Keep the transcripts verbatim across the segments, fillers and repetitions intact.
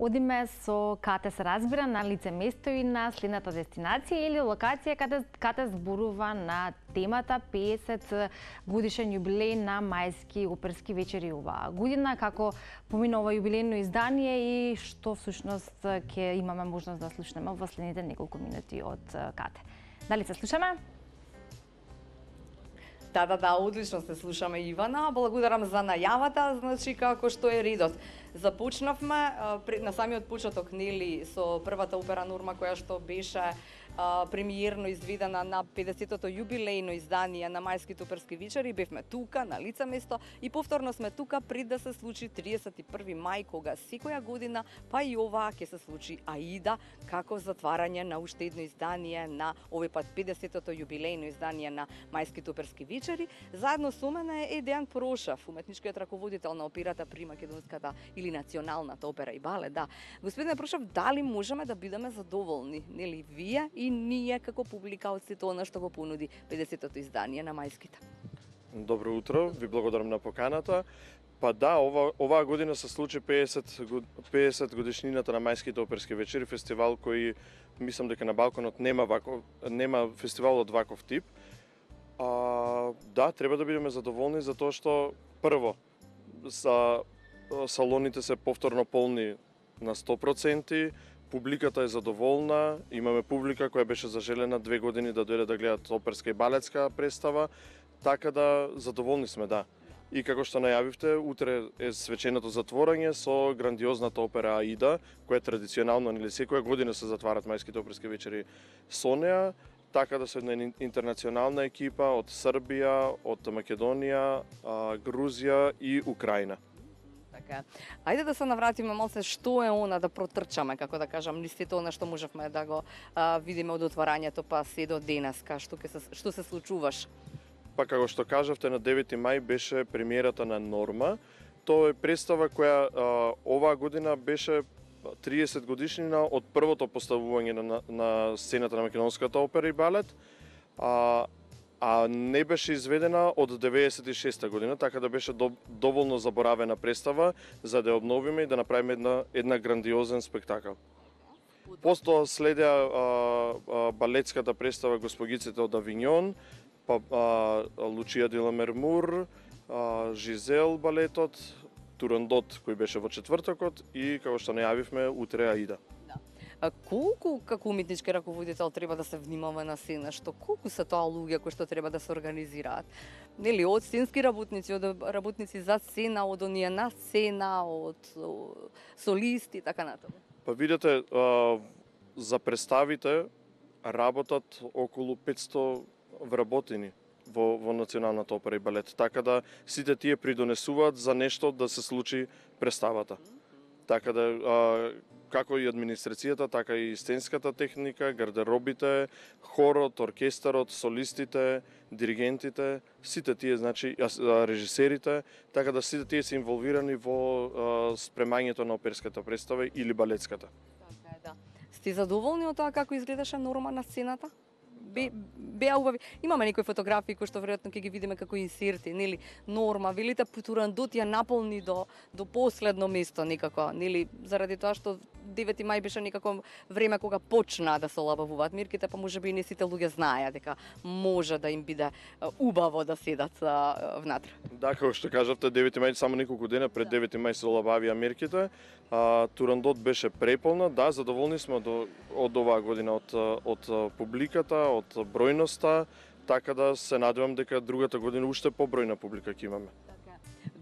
Одиме со Кате се разбира на лице место и на следната дестинација или локација каде Кате зборува на темата педесет годишен јубилеј на мајски оперски вечери оваа година, како помина ова јубилејно издание и што всушност ќе имаме можност да слушнеме во следните неколку минути од Кате. Дали се слушаме? Да, да, да, одлично се слушаме, Ивана. Благодарам за најавата, значи како што е редот. Започнавме на самиот почеток, нели, со првата опера Норма која што беше премиерно изведена на педесетото јубилејно издание на мајските оперски вечери. Бевме тука на лице место и повторно сме тука пред да се случи триесет и први мај, кога секоја година, па и ова ќе се случи Аида, како затварање на уште едно издание на овој пат педесетото јубилејно издание на мајските оперски вечери. Заедно со мене е Дејан Прошев, уметничкиот раководител на операта при Македонската или националната опера и балет. Да, господине Прошев, дали можеме да бидеме задоволни, нели, вие и ние како публика од сето она што го понуди педесетото издание на мајските? Добро утро, ви благодарам на поканата. Па да, ова, оваа година се случи педесет годишнината на мајските оперски вечери, фестивал кој мислам дека на Балканот нема ваков, нема фестивал од ваков тип. А, да, треба да бидеме задоволни затоа што прво са салоните се повторно полни на сто проценти, публиката е задоволна, имаме публика која беше зажелена две години да дојде да гледат оперска и балетска представа, така да задоволни сме, да. И како што најавивте, утре е свеченото затворање со грандиозната опера Аида, која традиционално, нели, секоја година се затварат мајските оперски вечери со неа, така да се една интернационална екипа од Србија, од Македонија, Грузија и Украина. Така. Ајде да се навратиме малце што е она, да протрчаме, како да кажам, листите она што можевме да го а, видиме од отварањето па се до денеска, што ќе се што се случуваш? Па како што кажавте, на девети мај беше премиерата на Норма. Тоа е представа која а, оваа година беше триесет годишнина од првото поставување на, на сцената на Македонската опера и балет, а, а не беше изведена од деветдесет и шеста година, така да беше до, доволно заборавена представа за да ја обновиме и да направиме една, една грандиозен спектакл. Постоја следеа а, а, балетската представа Госпогиците од Авиньон, па а, Лучија де ла Мермур, а, Жизел балетот, Турандот кој беше во четвртокот и како што најавивме утре Аида. Да. А колку како уметнички раководител треба да се внимава на сцена, што колку се тоа луѓе кои што треба да се организираат? Нели, од сценски работници, од работници за сцена, од оние на сцена, од солисти и така натаму. Па видете, а, за представите работат околу петсто вработени во, во Националната опера и балет, така да сите тие придонесуваат за нешто да се случи представата. Така да, а, како и администрацијата, така и сценската техника, гардеробите, хорот, оркестарот, солистите, диригентите, сите тие, значи, режисерите, така да сите тие се инволвирани во а, спремањето на оперската представа или балетската. Така е, да. Сте задоволни од тоа како изгледаше Норма на сцената? Бе, беа убави. Имаме некои фотографии кои што веројатно ќе ги видиме како инсерти, нели? Норма, велите Турандот ја наполни до до последно место некако, нели? Заради тоа што девети мај беше некако време кога почна да се олабавуваат мирките, па можеби и не сите луѓе знаеа дека може да им биде убаво да седат внатре. Да, како што кажавте, девети мај само неколку дена пред девети мај се олабавија мирките. А, Турандот беше преполна, да, задоволни сме до, од оваа година од, од публиката, од бројноста, така да се надевам дека другата година уште побројна публика ќе имаме.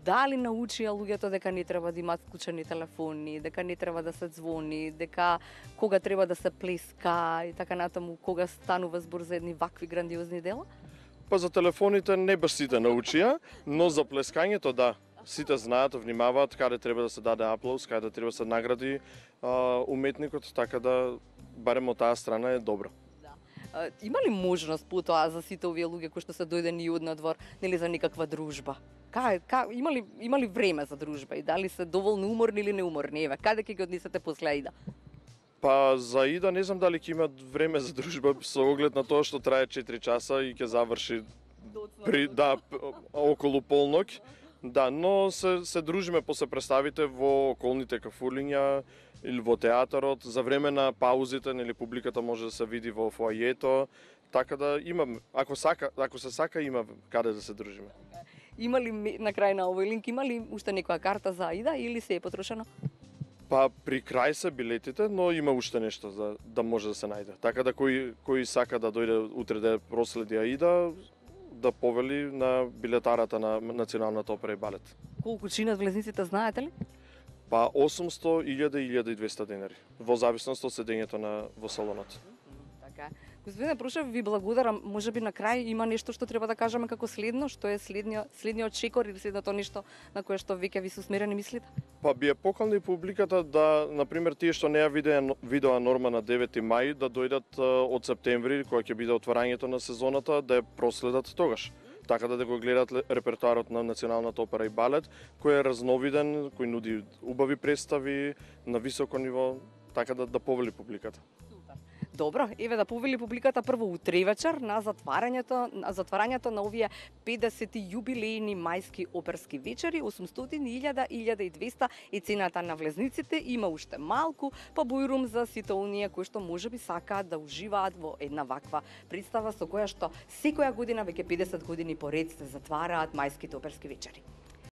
Дали научија луѓето дека не треба да имаат вклучени телефони, дека не треба да се звони, дека кога треба да се плеска и така натаму, кога станува збор за едни вакви грандиозни дела? Па за телефоните не баш сите научија, но за плескањето да. Сите знаат, внимаваат каде треба да се даде аплауз, каде треба да се награди а, уметникот, така да барем од таа страна е добро. Да. А, има ли можност потоа за сите овие луѓе кои што се дојдени од надвор, нели, за некаква дружба? Кај, ка, има ли има ли време за дружба и дали се доволно уморни или неуморни? Еве, каде ќе ги однесете после Аида? Па за Аида не знам дали ќе имат време за дружба со оглед на тоа што трае четири часа и ќе заврши при да околу полнок. Да, но се, се дружиме после представите во околните кафулиња, или во театарот, за време на паузите, нели публиката може да се види во фоајето, така да имам, ако сака, ако се сака има каде да се дружиме. Има ли на крај на овој линк, има ли уште некоја карта за Аида или се е потрошено? Па при крај се билетите, но има уште нешто за да може да се најде. Така да кој кој сака да дојде утре да проследи Аида, да повели на билетарата на Националната опера и балет. Колку чинат влезниците, знаете ли? Па осумсто, илјада и илјада и двесте денари, во зависност од седењето на во салонот. Така. Господине Прушев, ви благодарам. Може би на крај има нешто што треба да кажеме како следно, што е следниот следниот чекор или следното нешто на кое што веќе ви се усмерени мислите? Па би ја поканили публиката да, на пример, тие што не ја видеа видоа Норма на девети мај, да дојдат од септември, кога ќе биде отварањето на сезоната, да ја проследат тогаш. Така да, да го гледат репертоарот на Националната опера и балет, кој е разновиден, кој нуди убави представи на високо ниво, така да да повели публиката. Добро, еве да повели публиката прво утре вечер на затварањето на затварањето на овие педесети јубилејни мајски оперски вечери, осумстотини, илјада, илјада и двесте и цената на влезниците има уште малку, па бујрум за сите оние кои што можеби сакаат да уживаат во една ваква представа со која што секоја година веќе педесет години поред се затвараат мајските оперски вечери.